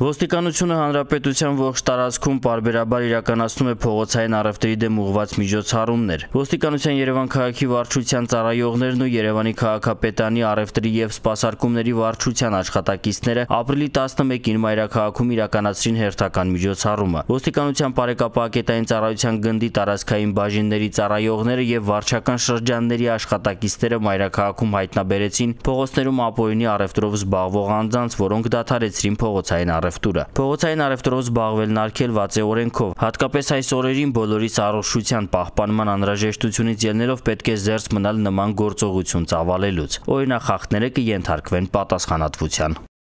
Ոստիկանությունը հանրապետության ողջ տարածքում պարբերաբար իրականացնում է փողոցային առևտրի դեմ ուղղված միջոցառումներ։ Ոստիկանության Երևան քաղաքի վարչության ծառայողներն ու Երևանի քաղաքապետարանի առևտրի եւ սպասարկումների վարչության աշխատակիցները ապրիլի 11-ին մայրաքաղաքում իրականացրին հերթական միջոցառումը։ Ոստիկանության բարեկապահակետային ծառայության գնդի տարածքային բաժինների ծառայողները եւ վարչական շրջանների աշխատակիցները մայրաքաղաքում հայտնաբերեցին փողոցներում ապօրինի առևտրով զբաղվող անձանց, որոնք դադարեցրին փողոցային Փողոցային առևտրով զբաղվելն արգելված է օրենքով, հատկապես այս օրերին բոլորիս առողջության պահպանման անհրաժեշտությունից ելնելով պետք է զերծ մնալ նման գործողություն ծավալելուց։ Օրինախախտները կենթարկվեն պատասխանատվության։